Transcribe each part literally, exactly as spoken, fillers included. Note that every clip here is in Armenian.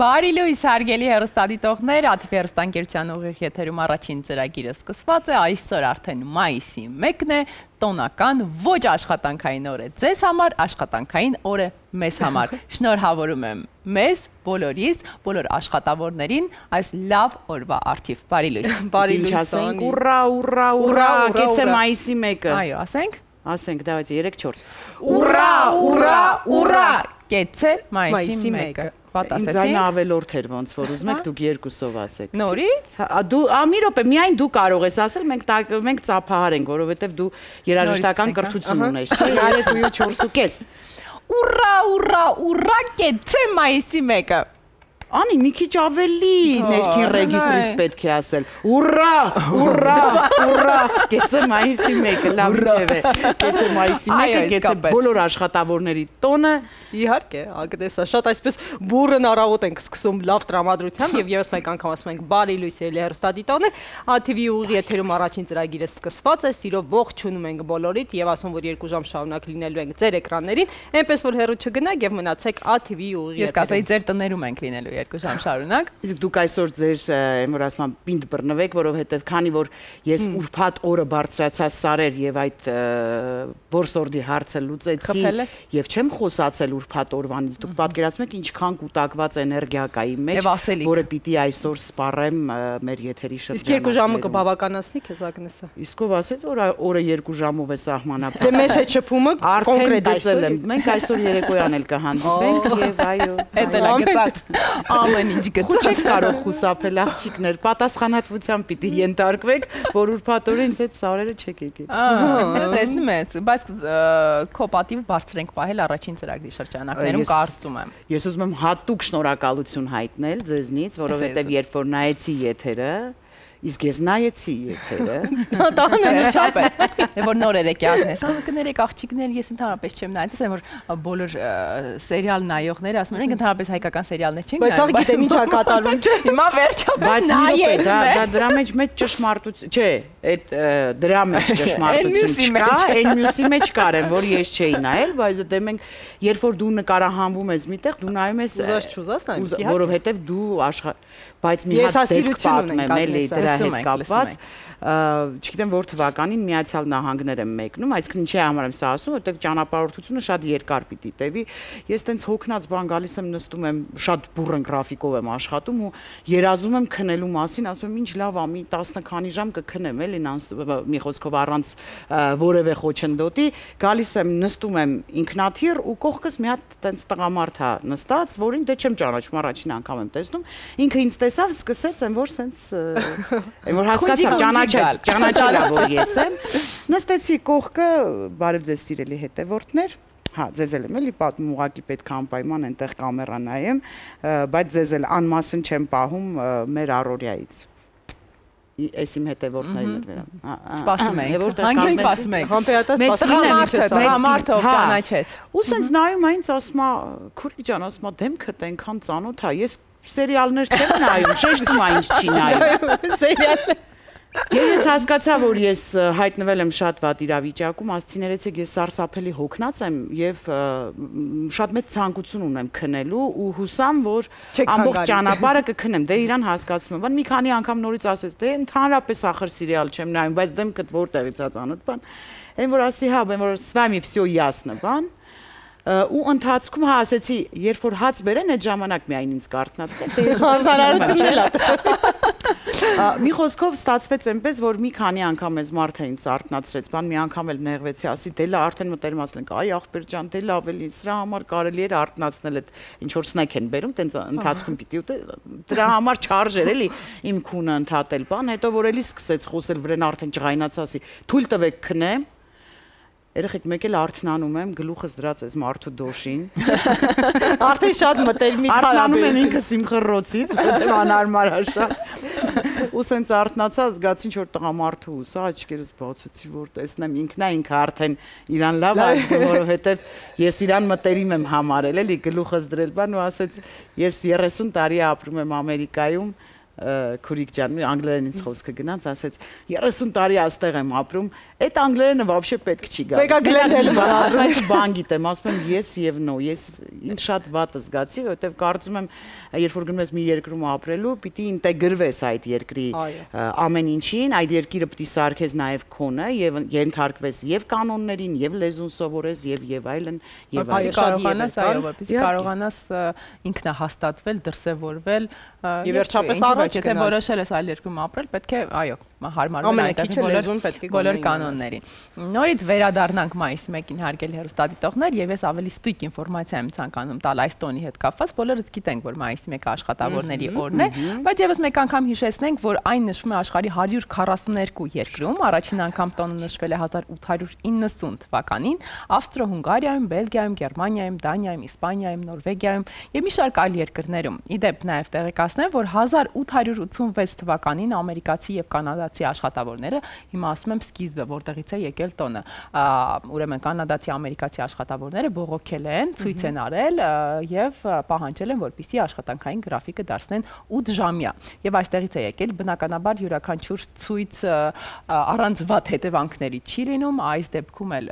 Բարի լույս հարգելի հեռուստադիտողներ, ԱԹՎ հեռուստաընկերության ուղիղ եթերում առաջին ծրագիրը սկսված է, այսօր արդեն մայիսի մեկն է, տոնական ոչ աշխատանքային օր է ձեզ համար, աշխատանքային օր է մեզ համար։ Շնորհավորում եմ մեզ, բոլորիս, բոլոր աշխատավորներին այս լավ օրվա առթիվ։ Բարի լույս։ Բարի լույս ասենք, ուռա, ուռա, ուռա, կեցե մայիսի մեկը։ Այո, ասենք։ Ասենք, դավайте երեք չորս։ Ուռա, ուռա, ուռա, կեցե մայիսի մեկը։ Ինձ այն ավելորդ էր ոնց որ ուզում եք դուք երկուսով ասեք։ Նորից։ Դու մի րոպե, միայն դու կարող ես ասել, մենք մենք ծափահար ենք, որովհետև դու երաժշտական կրթություն ունես, չէ՞, երեք ու չորս ու կես։ Ուռա, ուռա, ուռա, կեցե մայիսի մեկը։ Անի, մի քիչ ավելի ներքին ռեգիստրից պետք է ասել։ Ուռա, ուռա, ուռա, կեցե մայիսի մեկը, լավ ինչև է։ Կեցե մայիսի մեկը, կեցե բոլոր աշխատավորների տոնը։ Իհարկե, ագտեսա, շատ այսպես բուրըն առավոտ ենք սկսում լավ տրամադրությամբ եւ եւս մեկ անգամ ասում ենք բարի լույս ելի հեռուստադիտողներ, ԱԹՎ-ի ուղիղ եթերում առաջին ծրագիրը սկսված է, սիրով ողջունում ենք բոլորիդ եւ ասում որ երկու ժամ շարունակ լինելու ենք ձեր էկրաններին, այնպես որ հեռու չգնաք եւ մնացեք ԱԹՎ-ի ուղիղ եթերում։ Ես կասեի ձեր տներում ենք լինելու երկու ժամ շարունակ։ Իսկ դուք այսօր ձեր եմ որ ասում պինդ բռնվեք, որովհետև քանի որ ես ուրբաթ օրը բարձրացա սարեր եւ այդ որսորդի հարցը լուծեցի եւ չեմ խոսացել ուրբաթ օրվանից, դուք պատկերացնում եք ինչքան կուտակված էներգիա կա իմ մեջ, որը պիտի այսօր սպառեմ մեր եթերի շրջանում։ Իսկ երկու ժամը կբավականացնի քեզ Ագնեսա։ Իսկ ով ասեց որ օրը երկու ժամով է սահմանափակ։ Դե մեզ հետ շփումը կոնկրետ այսօր եմ։ Մենք այսօր երեկոյան էլ կհանդիպենք եւ այո։ Էդ էլ է գծած։ Ամեն ինչ գծած։ Չեք կարող խուսափել աղջիկներ, պատասխանատվությամբ պիտի ենթարկվեք, որ ուրբաթօրը ինձ այդ սարերը չեք եկել։ Ահա, տեսնում ես, բայց քո պատիվ բարձր ենք պահել առաջին ծրագրի շրջանակներում, կարծում եմ։ Ես ուզում եմ հատուկ շնորհակալություն հայտնել ձեզնից, որովհետև երբ որ նայեցի եթերը, իսկ ես նայեցի եթերը։ Դա շատ է։ Որ նորեր եք Ագնես, կներեք աղջիկներ, ես ընդհանրապես չեմ նայել, ասեմ որ բոլոր սերիալ նայողները ասում են, ընդհանրապես հայկական սերիալներ չենք նայում։ Բայց գիտեմ ինչ է կատարվում, չէ՞։ Հիմա վերջապես նայեք։ Դա դրա մեջ մեծ ճշմարտություն, չէ, այդ դրա մեջ ճշմարտություն չկա, այն մյուսի մեջ կար են, որ ես չէի նայել, բայց դե մենք երբ որ դու նկարահանվում ես միտեղ, դու նայում ես, որովհետև դու աշխարհ, բայց մի հատ դեպք պատմեմ էլի դրա հետ կապված, չգիտեմ որ թվականին Միացյալ Նահանգներ եմ մեկնում, այսինքն ինչի համար եմ սա ասում, որտեղ ճանապարհորդությունը շատ երկար պիտի տևի։ Ես տենց հոգնած բան գալիս եմ նստում եմ, շատ բուրըն գրաֆիկով եմ աշխատում ու երազում եմ քնելու մասին, ասում եմ ինչ լավ է, մի տասը քանի ժամ կքնեմ էլի, մի խոսքով առանց որևէ խոչընդոտի, գալիս եմ նստում եմ ինքնաթիռ ու կողքս մի հատ տենց տղամարդ է նստած, որին դե չեմ ճանաչում, առաջին անգամ եմ տեսնում, ինքը ինձ տեսավ, սկսեց եմ որ սենց եմ որ հասկացավ ճանաչեց, ճանաչելա որ ես եմ, նստեցի կողքը, բարև ձեզ սիրելի հետևորդներ, հա, ձեզ էլ եմ էլի պատմում, ուղղակի պետք է անպայման այնտեղ կամերա նայեմ, բայց ձեզ էլ անմասն չեմ պահում մեր առօրյայից։ Այս իմ հետևորդներն էր։ Սպասում ենք, հանգիստ սպասում ենք։ Համբերատած տղամարդը ով ճանաչեց։ Ու սենց նայում այնց ասում է, քուրիկ ջան, ասում է դեմքդ այնքան ծանոթ է, ես սերիալներ չեմ նայում, շեշտում է ինչ չի նայում։ Սերիալներ։ Ես հասկացա, որ ես հայտնվել եմ շատ վատ իրավիճակում, ասեցի ներեցեք ես սարսափելի հոգնած եմ եւ շատ մեծ ցանկություն ունեմ քնելու ու հուսամ, որ ամբողջ ճանապարհը կքնեմ, դե իրան հասկացնում եմ, բան մի քանի անգամ նորից ասեց, դե ընդհանրապես ախր սերիալ չեմ նայում, բայց դեմքդ որտեղից է ծանոթ բան, այն որ ասի հա, այն որ с вами всё ясно, բան ու ընթացքում հա ասեցի, երբ որ հաց բերեն այդ ժամանակ միայն ինձ կարթնացնեք, դե ես հազարարություն էլ է։ Մի խոսքով ստացվեց այնպես, որ մի քանի անգամ էս մարդը ինձ արթնացրեց, բան մի անգամ էլ նեղվեցի, ասի դե լա արդեն մտերիմ ասենք, այ ախպեր ջան, դե լավ էլի, սրա համար կարելի էր արթնացնել այդ ինչ որ սնեք են բերում, տենց ընթացքում պիտի ուտե, դրա համար չարժեր էլի իմ քունը ընդհատել, բան, հետո որ էլի սկսեց խոսել վրան արդեն ջղայնաց, ասի թույլ տվեք քնեմ։ Երեխեք մեկ էլ արթնանում եմ, գլուխս դրած էս մարդու դոշին։ Արդեն շատ մտերմիկ արթնանում եմ ինքս իմ խռոցից, որտեղ անհարմար է շատ։ Ու սենց արթնացա, զգացի ինչ որ տղամարդու հուսա, աչքերս բացեցի, որ տեսնեմ ինքնա ինքը արդեն իրան լավ այժմ, որովհետև ես իրան մտերիմ եմ համարել, էլի գլուխս դրել բան ու ասեց, ես երեսուն տարի ապրում եմ Ամերիկայում, քուրիկ ջան, անգլերեն ինձ խոսքը գնաց, ասեց երեսուն տարի այստեղ եմ ապրում, այդ անգլերենը вообще պետք չի գա։ Պետք է գլերել բան, բան գիտեմ, ասում եմ ես եւ նո, ես ինձ շատ վատ զգացի, որովհետեւ կարծում եմ, երբ որ գնում ես մի երկրում ապրելու, պիտի ինտեգրվես այդ երկրի ամեն ինչին, այդ երկիրը պիտի սարքես նաեւ քոնը եւ ենթարկվես եւ կանոններին, եւ լեզուն սովորես եւ եւ այլն, եւ այլն կարողանաս, այո, որպեսզի կարողանաս ինքնահաստատվել, դրսևորվել եւ վերջապես առաջ եթե որոշել ես այլ երկրում ապրել, պետք է, այո, հարմարվել այդտեղ բոլոր կանոններին։ Նորից վերադառնանք մայիսի մեկին հարգելի հեռուստադիտողներ, եւ ես ավելի ստույգ ինֆորմացիա եմ ցանկանում տալ այս տոնի հետ կապված, բոլորս գիտենք, որ մայիսի մեկը աշխատավորների օրն է, բայց եւս մեկ անգամ հիշեցնենք, որ այն նշվում է աշխարհի հարյուր քառասուններկու երկրում, առաջին անգամ տոնը նշվել է հազար ութ հարյուր իննսուն թվականին, Ավստրո-Հունգարիայում, Բելգիայում, Գերմանիայում, Դանիայում, Իսպանիայում, Նորվեգիայում եւ մի շարք այլ երկրներում։ Իդեպ նաեւ տեղեկացնեմ, որ հազար ութ հարյուր ութսունվեց թվականին ամերիկացի եւ կանադացի աշխատավորները, հիմա ասում եմ սկիզբը, որտեղից է եկել տոնը, ուրեմն կանադացի ամերիկացի աշխատավորները բողոքել են, ցույց են արել եւ պահանջել են, որպեսզի աշխատանքային գրաֆիկը դարձնեն ութ ժամյա։ Եվ այստեղից է եկել, բնականաբար յուրաքանչյուր ցույց առանց վատ հետևանքների չի լինում, այս դեպքում էլ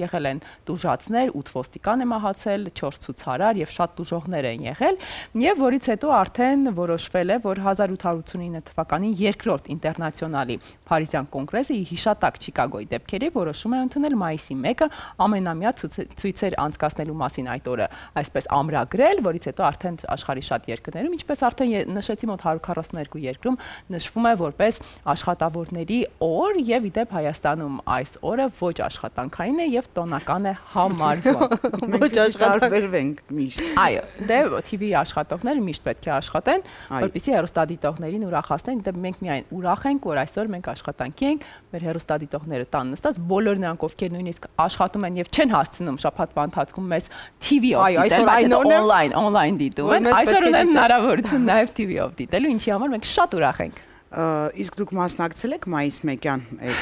եղել են տուժածներ, ութ ոստիկան է մահացել, չորս ցուցարար եւ շատ տուժողներ են եղել, եւ որից հետո արդեն որոշվել է, որ հազար ութ հարյուր ութսունինը թվականին երկրորդ ինտերնացիոնալի Փարիզյան կոնգրեսը հիշատակ Չիկագոյի դեպքերի որոշում է ընդունել մայիսի մեկը ամենամյա ցույցեր անցկացնելու մասին այդ օրը այսպես ամրագրել, որից հետո արդեն աշխարհի շատ երկրներում, ինչպես արդեն նշեցի, մոտ հարյուր քառասուններկու երկրում նշվում է որպես աշխատավորների օր եւ իդեպ Հայաստանում այս օրը ոչ աշխատանքային է եւ տոնական է համարվում։ Ոչ աշխատաբերվենք միշտ։ Այո, դե T V աշխատողները միշտ պետք է աշխատեն, որպեսզի հեռուստադիտողներին ուրախացնեն, դե մենք միայն ուրախ ենք, որ այսօր մենք աշխատանքի ենք, մեր հեռուստադիտողները տան նստած, բոլոր նրանք, ովքեր նույնիսկ աշխատում են եւ չեն հասցնում շաբաթվա ընթացքում մեզ T V-ով դիտել, բայց օնլայն, օնլայն դիտում են, այսօր ունեն հնարավորություն նաեւ T V-ով դիտելու, ինչի համար մենք շատ ուրախ ենք։ Իսկ դուք մասնակցել եք մայիս մեկյան այդ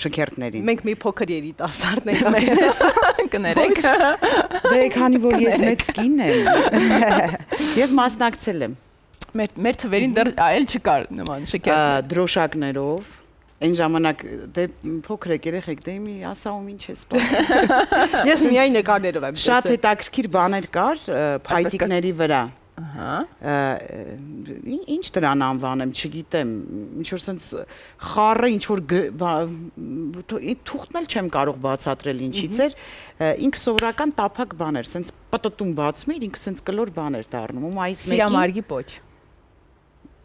շքերթներին։ Մենք մի փոքր երիտասարդ ենք կներեք։ Դե քանի որ ես մեծ կին եմ, ես մասնակցել եմ։ Մեր մեր թվերին դեռ այլ չկար նման շքերթ։ Դրոշակներով, այն ժամանակ դե փոքր երեխեք, դե մի ասաում ինչ է սպասում։ Ես միայն նկարներով եմ տեսել։ Շատ հետաքրքիր բաներ կար փայտիկների վրա։ Ահա։ Ինչ դրան անվանեմ, չգիտեմ, ինչ որ sense խառը, ինչ որ թուղթն էլ չեմ կարող բացատրել ինչից էր, ինքը սովորական տափակ բան էր, sense պտտում բացում էր, ինքը sense կլոր բան էր դառնում, ու մայիս մեկին Սիրամարգի պոչ։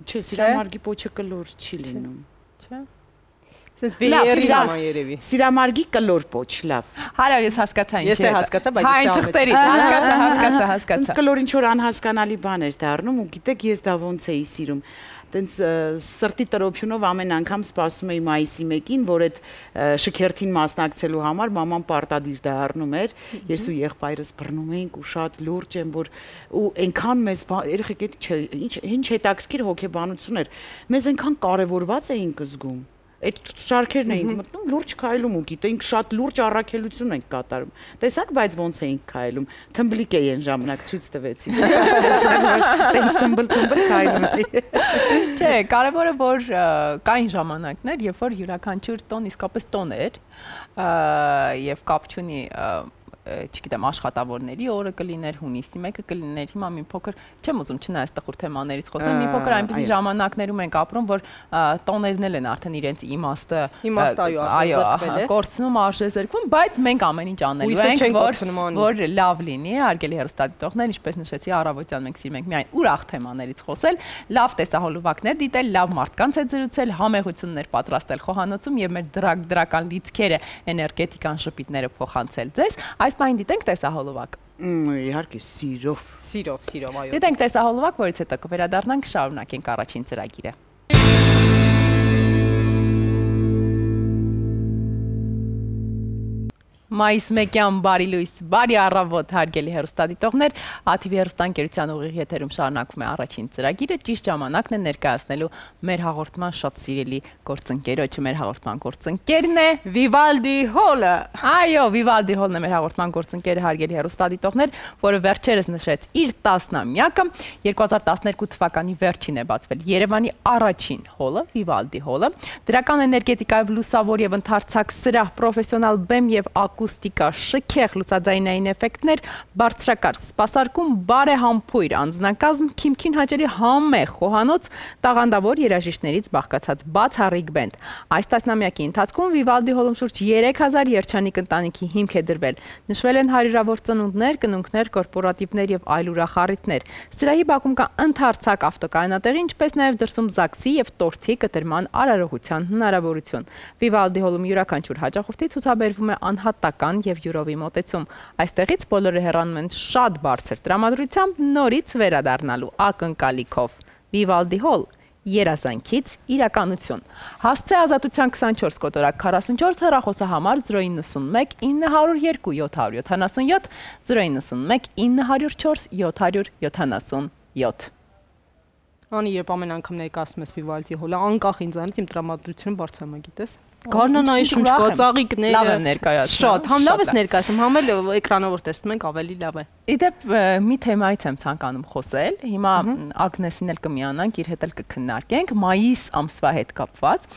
Չէ, սիրամարգի պոչը կլոր չի լինում։ Չէ։ Sense բիերի նման երևի։ Սիրամարգի կլոր պոչ, լավ։ Հալա ես հասկացա ինչ է։ Ես է հասկացա, բայց Հա, թղթերից հասկացա, հասկացա, հասկացա։ Կլոր ինչ որ անհասկանալի բան էր դառնում, ու գիտեք, ես դա ոնց էի սիրում։ Տենց սրտի տրոփյունով ամեն անգամ սպասում էի մայիսի մեկին, որ այդ շքերթին մասնակցելու համար մաման պարտադիր դառնում էր, ես ու եղբայրս բռնում էինք ու շատ լուրջ եմ, որ ու այնքան մեզ երեխեք ինչ ինչ հետաքրքիր հոգեբանություն էր, մեզ այնքան կարևորված էինք զգում։ Այդ շարքերն էինք մտնում, լուրջ քայլում ու գիտենք շատ լուրջ առաքելություն ենք կատարում։ Տեսակ, բայց ոնց էինք քայլում։ Թմբլիկ էի այն ժամանակ ցույց տվեցի։ Տենց թմբլ-թմբլ քայլում էի։ Չէ, կարևորը որ կային ժամանակներ, երբ որ յուրաքանչյուր տոն իսկապես տոն էր, եւ կապ չունի չգիտեմ, աշխատավորների օրը կլիներ, հունիսի մեկը կլիներ, հիմա մի փոքր, չեմ ուզում չնայած տխուր թեմաներից խոսեմ, մի փոքր այնպիսի ժամանակներում ենք ապրում, որ տոներն էլ են արդեն իրենց իմաստը, այո, կորցնում, արժեզրկվում, բայց մենք ամեն ինչ անելու ենք, որ որ լավ լինի, հարգելի հեռուստադիտողներ, ինչպես նշեցի, առավոտյան մենք սիրում ենք միայն ուրախ թեմաներից խոսել, լավ տեսահոլովակներ դիտել, լավ մարդկանց հետ զրուցել, համեղություններ պատրաստել խոհանոցում եւ մեր դրական լիցքերը, էներգետիկան, շփիթները փոխանցել ձեզ։ Այս բան դիտենք տեսահոլովակ։ Իհարկե, սիրով, սիրով, սիրով, այո։ Դիտենք տեսահոլովակ, որից հետո կվերադառնանք, շարունակենք առաջին ծրագիրը։ Մայիս մեկյան բարի լույս, բարի առավոտ հարգելի հեռուստադիտողներ, ա թի վի հեռուստաընկերության ուղիղ եթերում շարունակվում է առաջին ծրագիրը, ճիշտ ժամանակն է ներկայացնելու մեր հաղորդման շատ սիրելի գործընկերոջը, մեր հաղորդման գործընկերն է Վիվալդի Հոլը։ Այո, Վիվալդի Հոլն է մեր հաղորդման գործընկերը, հարգելի հեռուստադիտողներ, որը վերջերս նշեց իր տասնամյակը, երկու հազար տասներկու թվականի վերջին է բացվել Երևանի առաջին հոլը, Վիվալդի հոլը, դրական էներգետիկայով լուսավոր եւ ընդարձակ սրահ, պրոֆեսիոնալ բեմ եւ ակուստիկա, շքեղ լուսաձայնային էֆեկտներ, բարձրակարգ սպասարկում, բարեհամբույր անձնակազմ, քիմքին հաճելի համեղ խոհանոց, տաղանդավոր երաժիշտներից բաղկացած բացառիկ բենդ։ Այս տասնամյակի ընթացքում Վիվալդի հոլում շուրջ երեք հազար երջանիկ ընտանիքի հիմք է դրվել։ Նշվել են հարյուրավոր ծնունդներ, կնունքներ, կորպորատիվներ եւ այլ ուրախառիթներ։ Սրահի բակում կա ընդարձակ ավտոկայանատեղի, ինչպես նաեւ դրսում ԶԱԳՍ-ի եւ տորթի կտրման արարողության հնարավորություն։ Վիվալդի հոլում յուրաքանչյուր հաճախորդի ցուցաբերվում է անհատական եւ յուրովի մոտեցում։ Այստեղից բոլորը հեռանում են շատ բարձր տրամադրությամբ նորից վերադառնալու ակնկալիքով։ Վիվալդի հոլ երազանքից իրականություն։ Հասցե ազատության քսանչորս կոտորակ քառասունչորս հեռախոսահամար զրո իննսունմեկ ինը հարյուր երկու յոթ հարյուր յոթանասունյոթ զրո իննսունմեկ ինը հարյուր չորս յոթ հարյուր յոթանասունյոթ Անի երբ ամեն անգամ ներկայացնում ես Վիվալդի հոլը, անկախ ինձանից իմ տրամադրությունը բարձրանում է, գիտես։ Գարնանայի շունչ կա, ծաղիկները։ Լավ եմ ներկայացնում։ Շատ, համ լավ ես ներկայացնում, համ էլ էկրանով որ տեսնում ենք ավելի լավ է։ Իդեպ մի թեմայից եմ ցանկանում խոսել։ Հիմա Ագնեսին էլ կմիանանք, իր հետ էլ կքննարկենք մայիս ամսվա հետ կապված։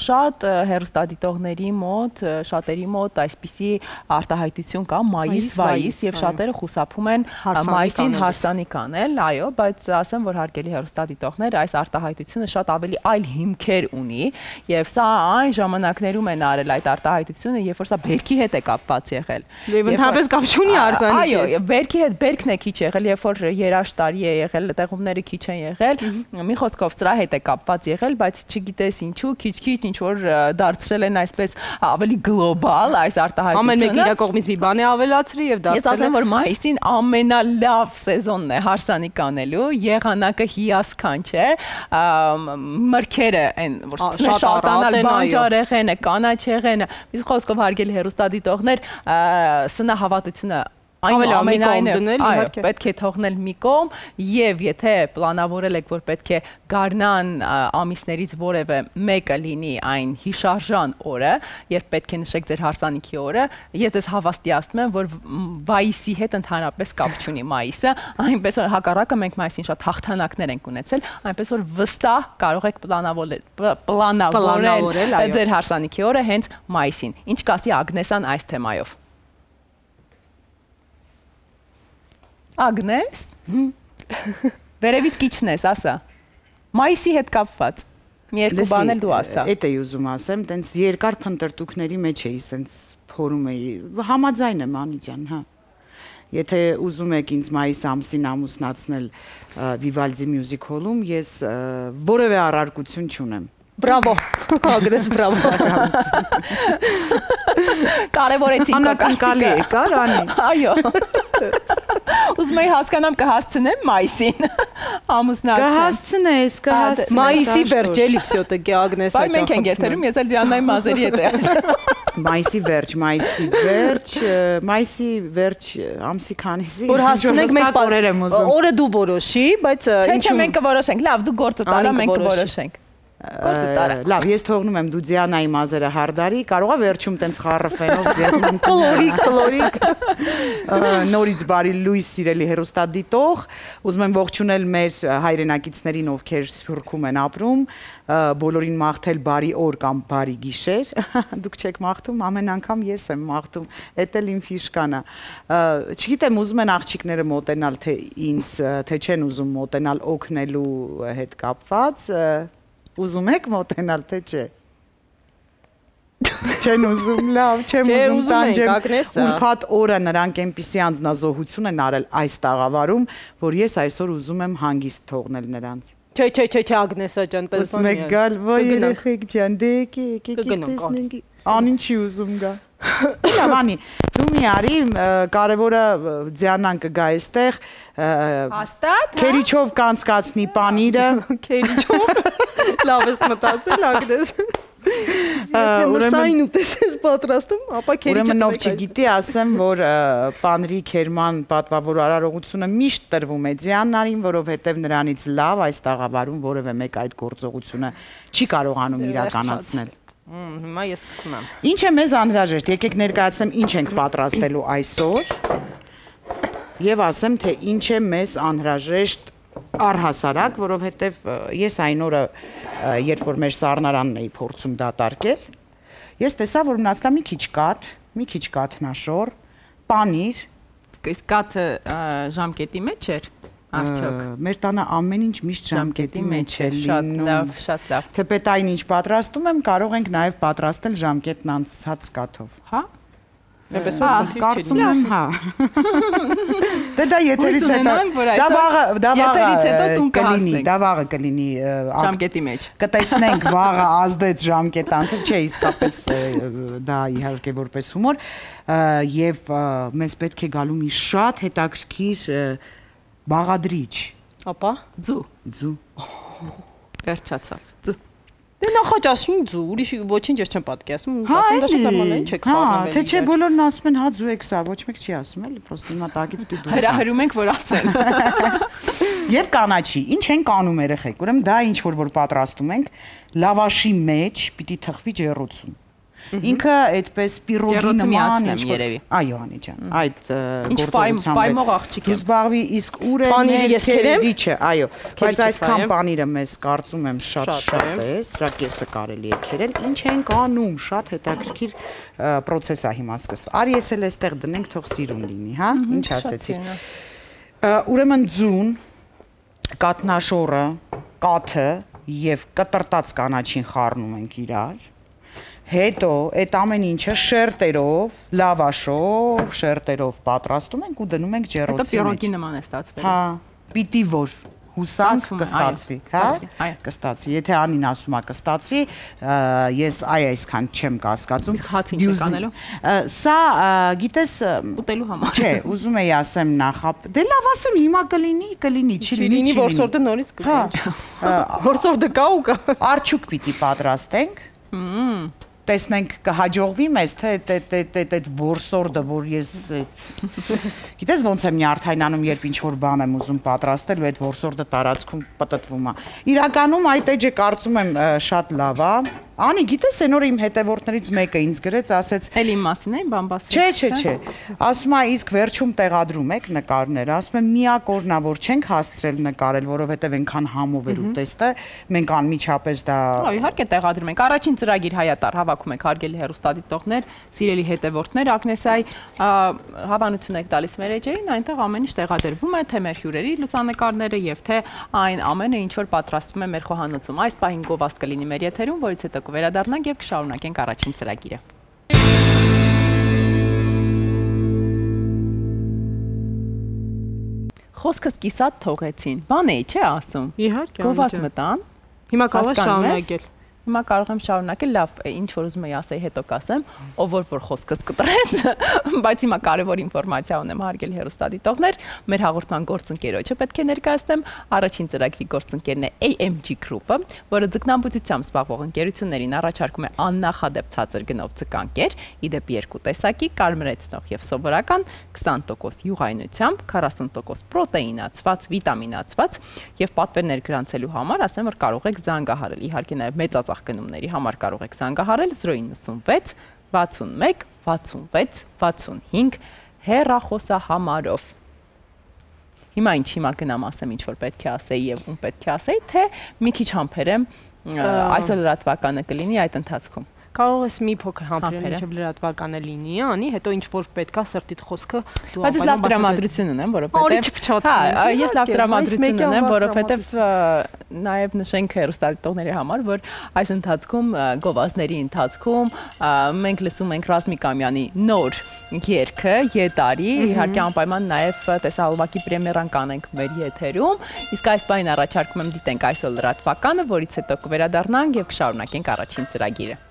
Շատ հեռուստադիտողների մոտ, շատերի մոտ այսպիսի արտահայտություն կա մայիս-վայիս եւ շատերը խուսափում են մայիսին հարսանիք անել, այո, բայց ասեմ, որ հարգելի հեռուստադիտողներ, այս արտահայտությունը շատ ավելի այլ հիմքեր ունի եւ սա այն ժամանակներում են արել այդ արտահայտությունը, երբ որ սա բերքի հետ է կապված եղել։ Եվ ընդհանրապես կապ չունի հարսանիքի։ Այո, բերքի հետ բերքն է քիչ եղել, երբ որ երաշտարի է եղել, տեղումները քիչ են եղել, մի խոսքով սրա հետ է կապված եղել, բայց չգիտես ինչու, քիչ-քիչ ինչ որ դարձրել են այսպես ավելի գլոբալ այս արտահայտությունը։ Ամեն մեկը իր կողմից մի բան է ավելացրի եւ դարձել։ Ես ասեմ, որ մայիսին ամենալավ սեզոնն է հարսանիք անելու, եղանակը հիասքանչ է, մրգերը այն որ շատանալ բանջարեղենը, կանաչեղենը, մի խոսքով հարգելի հեռուստադիտողներ, սնահավատությունը ամենայնիվ պետք է թողնել մի կողմ եւ եթե պլանավորել եք որ պետք է գարնան ամիսներից որևէ մեկը լինի այն հիշարժան օրը, երբ պետք է նշեք ձեր հարսանիքի օրը, ես ձեզ հավաստիացնում եմ, որ վայիսի հետ ընդհանրապես կապ չունի մայիսը, այնպես որ հակառակը մենք մայիսին շատ հաղթանակներ ենք ունեցել, այնպես որ վստահ կարող եք պլանավորել ձեր հարսանիքի օրը հենց մայիսին։ Ինչ կասի Ագնեսան այս թեմայով։ Ագնես, վերևից կիչնես, ասա, մայիսի հետ կապված, մի երկու բան էլ դու ասա։ Էդ էի ուզում ասեմ, տենց երկար փնտրտուքների մեջ էի, սենց փորում էի, համաձայն եմ Անի ջան, հա։ Եթե ուզում եք ինձ մայիս ամսին ամուսնացնել Վիվալդի մյուզիկ հոլում, ես որևէ առարկություն չունեմ։ Բրավո, Ագնես, բրավո։ Կարևորեցինք անկարծիկը։ Եկար, Անի։ Այո։ Ուզում եի հասկանամ կհասցնեմ մայիսին ամուսնացնել։ Կհասցնես, կհասցնես։ Մայիսի վերջ էլի всё-таки Ագնես Բայց մենք ենք եթերում, ես էլ Դիանայի մազերի հետ եմ։ Մայիսի վերջ, մայիսի վերջ, մայիսի վերջ ամսի քանիսի։ Որ հասցնենք մենք օրեր եմ ուզում։ Օրը դու որոշի, բայց Չէ, չէ, մենք կորոշենք։ Լավ, դու գործը տարա, մենք կորոշենք։ Լավ, ես թողնում եմ դու Դիանայի մազերը հարդարի, կարողա վերջում տենց խառրվելով ձեռնում կլորիկ, կլորիկ։ Նորից բարի լույս սիրելի հեռուստադիտող, ուզում եմ ողջունել մեր հայրենակիցներին, ովքեր Սփյուռքում են ապրում, բոլորին մաղթել բարի օր կամ բարի գիշեր։ Դուք չեք մաղթում, ամեն անգամ ես եմ մաղթում, էդ էլ իմ ֆիշկան է։ Չգիտեմ, ուզում են աղջիկները մոտենալ թե ինձ, թե չեն ուզում մոտենալ օգնելու հետ կապված։ Ուզում եք մոտենալ, թե չէ։ Չեն ուզում, լավ, չեմ ուզում տանջեմ։ Ուրբաթ օրը նրանք այնպիսի անձնազոհություն են արել այս տաղավարում, որ ես այսօր ուզում եմ հանգիստ թողնել նրանց։ Չէ, չէ, չէ, չէ, Ագնեսա ջան, տեսնում եք գալ, ոյ երեխեք ջան, դե եկի, եկեք տեսնենք։ Անին չի ուզում գա։ Լավ, Անի, դու մի արի, կարևորը Դիանան կգա այստեղ։ Հաստատ։ Քերիչով կանցկացնի պանիրը։ Քերիչով։ Լավ ես մտածել, Ագնես։ Ուրեմն ուտես պատրաստում, ապա քերի Ուրեմն ով չգիտի, ասեմ, որ Պանրի Քերման պատվավոր արարողությունը միշտ տրվում է Դիանային, որովհետև նրանից լավ այս տաղավարում որևէ մեկ այդ գործողությունը չի կարողանում իրականացնել։ Հիմա ես սկսում եմ։ Ինչ է մեզ անհրաժեշտ, եկեք ներկայացնեմ ինչ ենք պատրաստելու այսօր եւ ասեմ, թե ինչ է մեզ անհրաժեշտ առհասարակ, որովհետեւ ես այն օրը, երբ որ մեր սառնարանն էի փորձում դատարկել, ես տեսա, որ մնացել է մի քիչ կաթ, մի քիչ կաթնաշոր, պանիր, իսկ կաթը ժամկետի մեջ էր։ Արդյոք մեր տանը ամեն ինչ միշտ ժամկետի մեջ է լինում։ Շատ լավ, շատ լավ։ Թեպետ այն ինչ պատրաստում եմ, կարող ենք նաև պատրաստել ժամկետն անցած կաթով։ Հա։ Այնպես որ կարծում եմ, հա։ Դե դա եթերից հետո դա վաղը դա վաղը կլինի, դա վաղը կլինի ժամկետի մեջ։ Կտեսնենք վաղը ազդեց ժամկետ անցել, չէ, իսկապես դա իհարկե որպես հումոր եւ մեզ պետք է գալու մի շատ հետաքրքիր բաղադրիչ։ Ապա ձու, ձու։ Վերջացավ։ Ձու։ Դե նախաճաշին ձու, ուրիշ ոչինչ ես չեմ պատկերացնում, հա, դա շատ նորմալ է, ինչ եք խառնվել։ Հա, թե չէ բոլորն ասում են, հա ձու եք սա, ոչ մեկ չի ասում, էլի, պրոստը հիմա տակից պիտի դուրս գա։ Հրահրում ենք, որ ասեն։ Եվ կանաչի, ինչ ենք անում երեխեք, ուրեմն դա ինչ որ որ պատրաստում ենք, լավաշի մեջ պիտի թխվի ջեռոցում։ Ինքը այդպես պիրոգի նման ինչ որ այո Անի ջան այդ գործողությամբ ֆայմող աղջիկ է զբաղվի իսկ ուր է ներքևիչը այո բայց այսքան պանիրը մեզ կարծում եմ շատ շատ է սրա կեսը կարելի է քերել ինչ ենք անում շատ հետաքրքիր process է հիմա սկսվում արի ես էլ էստեղ դնենք թող սիրուն լինի հա ինչ ասեցի ուրեմն ձուն կաթնաշորը կաթը եւ կտրտած կանաչին խառնում ենք իրար Հետո այդ ամեն ինչը շերտերով, լավաշով, շերտերով պատրաստում ենք ու դնում ենք ջեռոցի մեջ։ Հետո պիրոգի նման է ստացվել։ Հա, պիտի որ հուսանք կստացվի, հա? Կստացվի։ Եթե Անին ասում է կստացվի, ես այ այսքան չեմ կասկածում։ Իսկ հաց ինչ եք անելու։ Սա, գիտես, ուտելու համար։ Չէ, ուզում էի ասեմ նախապ։ Դե լավ ասեմ, հիմա կլինի, կլինի, չի լինի, չի լինի։ Որսորդը նորից կգնա։ Որսորդը կա ու կա։ Արջուկ պիտի պատրաստենք։ Հմ տեսնենք կհաջողվի մեզ թե այդ որսորդը որ ես գիտես ոնց եմ նյարդայնանում երբ ինչ որ բան եմ ուզում պատրաստել ու այդ որսորդը տարածքում պտտվում է իրականում այդ էջը կարծում եմ շատ լավ է Անի գիտես այն օրը իմ հետևորդներից մեկը ինձ գրեց ասեց Էլի իմ մասին է բան բասել Չէ չէ չէ ասում է իսկ վերջում տեղադրում եք նկարները ասում եմ միակ օրնա որ չենք հասցրել նկարել որովհետև այնքան համով էր ուտեստը մենք անմիջապես դա Իհարկե տեղադրում ենք առաջին ծրագիր հայատար հավաքում ենք հարգելի հեռուստադիտողներ սիրելի հետևորդներ Ագնեսայի հավանություն եք տալիս մեր էջերին այնտեղ ամեն ինչ տեղադրվում է թե մեր հյուրերի լուսանկարները եւ թե այն ամենը ինչ որ պատրաստվում է մեր խոհանոցում այս պահին գովազդ կլինի մեր եթերում որից հետո կվերադառնանք եւ կշարունակենք առաջին ծրագիրը Խոսքս կիսատ թողեցին բան էի չէ ասում Իհարկե գովազդ մտան Հիմա կարող եմ շարունակել Հիմա կարող եմ շարունակել, լավ, ինչ որ ուզում եի ասեի, հետո կասեմ, ով որ որ խոսքս կտրեց, բայց հիմա կարևոր ինֆորմացիա ունեմ հարգելի հեռուստադիտողներ, մեր հաղորդման գործընկերոջը պետք է ներկայացնեմ, առաջին ծրագրի գործընկերն է A M G Group-ը, որը ձկնամբուծությամբ զբաղվող ընկերություններին առաջարկում է աննախադեպ ցածր գնով ձկանկեր, իդեպ երկու տեսակի, կարմրեցնող եւ սովորական, քսան տոկոս յուղայնությամբ, քառասուն տոկոս պրոտեինացված, վիտամինացված եւ պատվերներ գրանցելու համար ասեմ, որ կարող եք զանգահարել, իհարկե նաեւ մեծ գնումների համար կարող եք զանգահարել զրո իննսունվեց վաթսունմեկ վաթսունվեց վաթսունհինգ հեռախոսահամարով Հիմա ինչ հիմա գնամ ասեմ ինչ որ պետք է ասեի եւ ում պետք է ասեի թե մի քիչ համբերեմ այսօր լրատվականը կլինի այդ ընթացքում Կարող ես մի փոքր համբերել ինչեւ լրատվականը լինի, անի, հետո ինչ որ պետքա սրտիդ խոսքը դու Բայց ես լավ տրամադրություն ունեմ, որովհետեւ Հա, ես լավ տրամադրություն ունեմ, որովհետեւ նաեւ նշենք հեռուստադիտողների համար, որ այս ընթացքում գովազդների ընթացքում մենք լսում ենք Ռազմիկ Ամյանի նոր երգը Ետարի, իհարկե անպայման նաեւ տեսահոլովակի պրեմիերան կանենք մեր եթերում, իսկ այս բանին առաջարկում եմ դիտենք այսօր լրատվականը, որից հետո կվերադառնանք եւ կշարունակենք առաջին ծրագիրը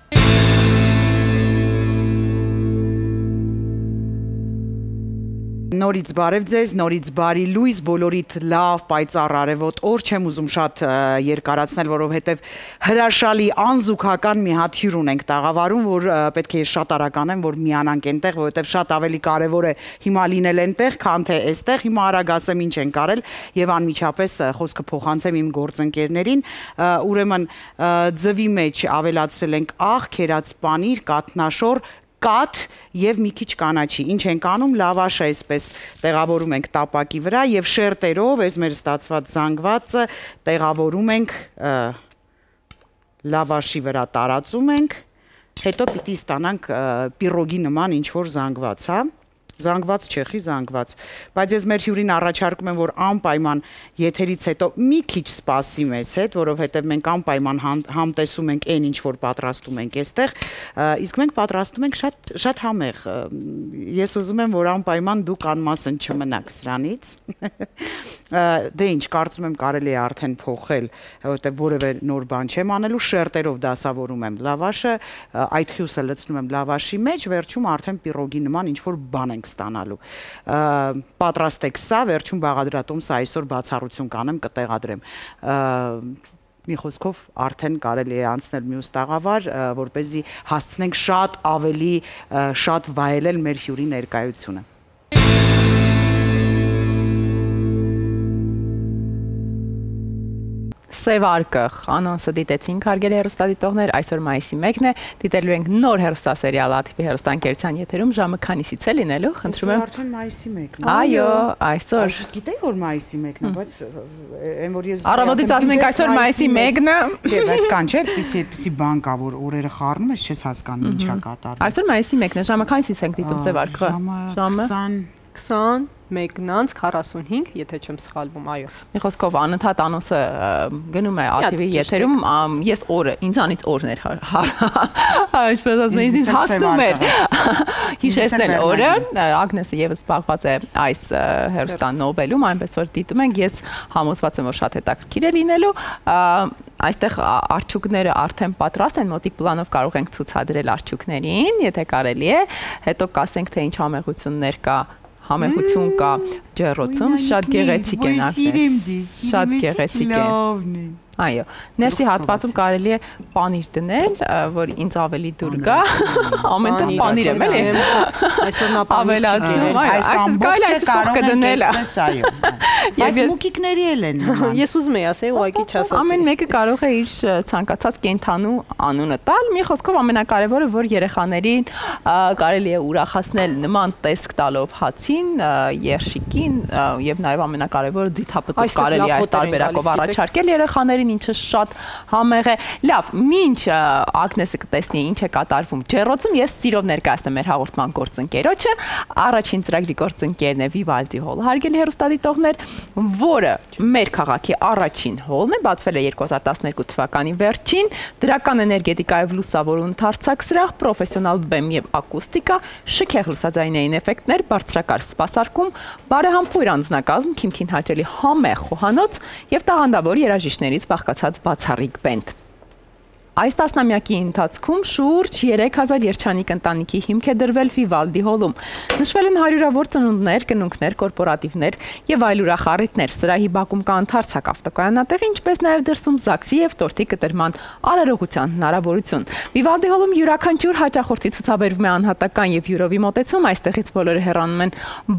Նորից բարև ձեզ, նորից բարի լույս, բոլորիդ լավ, պայծառ արևոտ օր, չեմ ուզում շատ երկարացնել, որովհետև հրաշալի անզուգական մի հատ հյուր ունենք տաղավարում, որ պետք է շատ արական եմ, որ միանանք այնտեղ, որովհետև շատ ավելի կարևոր է հիմա լինել այնտեղ, քան թե այստեղ, հիմա արագ ասեմ ինչ ենք արել եւ անմիջապես խոսքը փոխանցեմ իմ գործընկերներին, ուրեմն ձվի մեջ ավելացրել ենք աղ, քերած պանիր, կաթնաշոր, կաթ եւ մի քիչ կանաչի։ Ինչ ենք անում, լավաշը այսպես տեղավորում ենք տապակի վրա եւ շերտերով, այս մեր ստացված զանգվածը տեղավորում ենք լավաշի վրա տարածում ենք, հետո պիտի ստանանք պիրոգի նման ինչ որ զանգված, հա։ Զանգված չեխի զանգված, բայց ես մեր հյուրին առաջարկում եմ, որ անպայման եթերից հետո մի քիչ սպասի մեզ հետ, որովհետև մենք անպայման համտեսում ենք այն ինչ որ պատրաստում ենք այստեղ, իսկ մենք պատրաստում ենք շատ շատ համեղ։ Ես ուզում եմ, որ անպայման դուք անմասն չմնաք սրանից։ Դե ինչ, կարծում եմ կարելի է արդեն փոխել, որովհետև որևէ նոր բան չեմ անելու, շերտերով դասավորում եմ լավաշը, այդ խյուսը լցնում եմ լավաշի մեջ, վերջում արդեն պիրոգի նման ինչ որ բան ենք ստանալու։ Պատրաստեք սա, վերջում բաղադրատոմսը այսօր բացառություն կանեմ, կտեղադրեմ։ Մի խոսքով արդեն կարելի է անցնել մյուս տաղավար, որպեսզի հասցնենք շատ ավելի շատ վայելել մեր հյուրի ներկայությունը։ Սև արկը անոնսը դիտեցինք, հարգելի հեռուստադիտողներ, այսօր մայիսի մեկն է, դիտելու ենք նոր հեռուստասերիալ աթիվի հեռուստաընկերության եթերում, ժամը քանիսից է լինելու, խնդրում եմ։ Արդեն մայիսի մեկն է։ Այո, այսօր։ Գիտեի որ մայիսի մեկն է, բայց այն որ ես Առավոտից ասում ենք այսօր մայիսի մեկն է։ Չէ, բայց կան չէ, այդպիսի այդպիսի բան կա, որ օրերը խառնում ես, չես հասկանում ինչա կատարվում։ Այսօր մայիսի մեկն է, ժամը քանիսից ենք դիտում սև արկը։ Ժամը քսանմեկ քառասունհինգ, եթե չեմ սխալվում, այո։ Մի խոսքով անընդհատ անոնսը գնում է աթիվի եթերում, ես օրը, ինձանից օրներ, ինչպես ասում եմ, ինձ հասնում էր հիշեցնել օրը, Ագնեսը եւս զբաղված է այս հեռուստան նոբելում, այնպես որ դիտում ենք, ես համոզված եմ, որ շատ հետաքրքիր է լինելու, այստեղ արջուկները արդեն պատրաստ են, մոտիկ պլանով կարող ենք ցուցադրել արջուկներին, եթե կարելի է, հետո կասենք, թե ինչ համեղություններ կա, համեղություն կա ջեռոցում, շատ գեղեցիկ են Ագնես, շատ գեղեցիկ են։ Այո, ներսի հատվածում կարելի է պանիր դնել, որ ինձ ավելի դուր գա, ամենտեղ պանիր եմ, էլի։ Այսօր նա ավելացնում, այո, այսպես կարելի է փոխ դնել։ Բայց մուկիկների էլ են։ Ես ուզում եի ասել, ուղղակի չասացի։ Ամեն մեկը կարող է իր ցանկացած կենթանու անունը տալ, մի խոսքով ամենակարևորը, որ երեխաներին կարելի է ուրախացնել նման տեսք տալով հացին, երշիկին եւ նաեւ ամենակարևորը ձիթապտուղ կարելի է այս տարբերակով առաջարկել երեխաներին, ինչը շատ համեղ է։ Լավ, մինչ Ագնեսը կտեսնի ինչ է կատարվում ջեռոցում, ես սիրով ներկայացնեմ մեր հաղորդման գործընկերոջը, առաջին ծրագրի գործընկերն է Vivaldi Hall, հարգելի հեռուստադիտողներ, որը մեր քաղաքի առաջին հոլն է, բացվել է երկու հազար տասներկու թվականի վերջին, դրական էներգետիկայով լուսավորուն ընդարձակ սրահ, պրոֆեսիոնալ բեմ եւ ակուստիկա, շքեղ լուսաձայնային էֆեկտներ, բարձրակարգ սպասարկում, բարեհամբույր անձնակազմ, քիմքին հաճելի համեղ խոհանոց եւ տաղանդավոր երաժիշտներից բաղկացած բացառիկ բենդ։ Այս տասնամյակի ընթացքում շուրջ երեք հազար երջանիկ ընտանիքի հիմք է դրվել Vivaldi Hall-ում։ Նշվել են հարյուրավոր ծնունդներ, կնունքներ, կորպորատիվներ եւ այլ ուրախառիթներ։ Սրահի բակում կա ընդարձակ ավտոկայանատեղ, ինչպես նաեւ դրսում ԶԱԳՍ-ի եւ տորտի կտրման արարողության հնարավորություն։ Vivaldi Hall-ում յուրաքանչյուր հաճախորդի ցուցաբերվում է անհատական եւ յուրովի մոտեցում, այստեղից բոլորը հեռանում են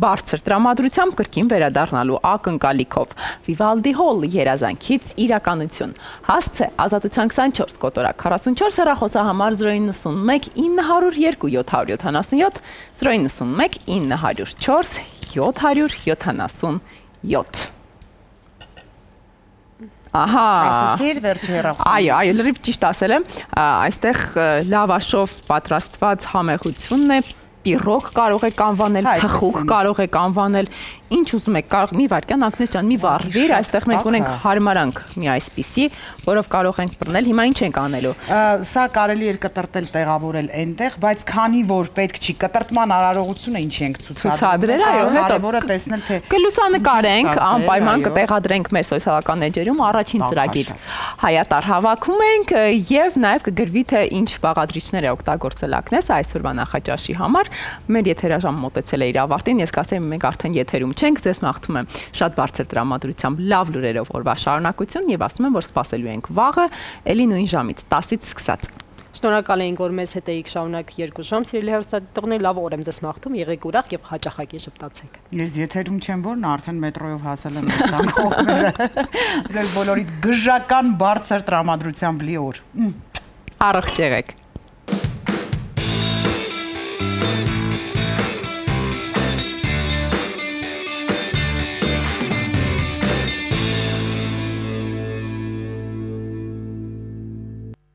բարձր տրամադրությամբ կրկին վերադառնալու ակնկալիքով։ Vivaldi Hall երազանքից իրականություն։ Հասցե ազատության քսանչորս կոտոր քառասունչորս հեռախոսահամար զրո իննսունմեկ ինը հարյուր երկու յոթ հարյուր յոթանասունյոթ զրո իննսունմեկ ինը հարյուր չորս յոթ հարյուր յոթանասունյոթ Ահա, ասացիր վերջի հեռախոսը։ Այո, այո, լրիվ ճիշտ ասել եմ, այստեղ լավաշով պատրաստված համեղությունն է, պիրոգ կարող եք անվանել, թխուկ կարող եք անվանել, ինչ ուզում եք, կարող մի վարքյան Ագնես ջան, մի վառվիր, այստեղ մենք ունենք հարմարանք մի այսպիսի, որով կարող ենք բռնել, հիմա ինչ ենք անելու։ Սա կարելի էր կտրտել, տեղավորել այնտեղ, բայց քանի որ պետք չի, կտրտման արարողությունը ինչ ենք ցուցադրել, այո, հետո կարևորը տեսնել թե կլուսանկարենք, անպայման կտեղադրենք մեր սոցիալական էջերում առաջին ծրագիր հայատար հավաքում ենք եւ նաեւ կգրվի թե ինչ բաղադրիչներ է օգտագործել Ագնեսը այսօրվա նախաճաշի համար։ Մեր եթերաժամ մոտեցել է իր ավարտին, ես կասեի մենք արդեն եթերում չենք, ձեզ մաղթում եմ շատ բարձր տրամադրությամբ լավ լուրերով օրվա շարունակություն եւ ասում եմ, որ սպասելու ենք վաղը, ելի նույն ժամից տասից սկսած։ Շնորհակալ ենք, որ մեզ հետ էիք շարունակ երկու ժամ, սիրելի հեռուստադիտողներ, լավ օր եմ ձեզ մաղթում, եղեք ուրախ եւ հաճախակի շփտացեք։ Ես եթերում չեմ, որ նա արդեն մետրոյով հասել եմ այդքան կողմերը։ Ձեզ բոլորիդ գժական բարձր տրամադրությամբ լի օր։ Առողջ եղեք։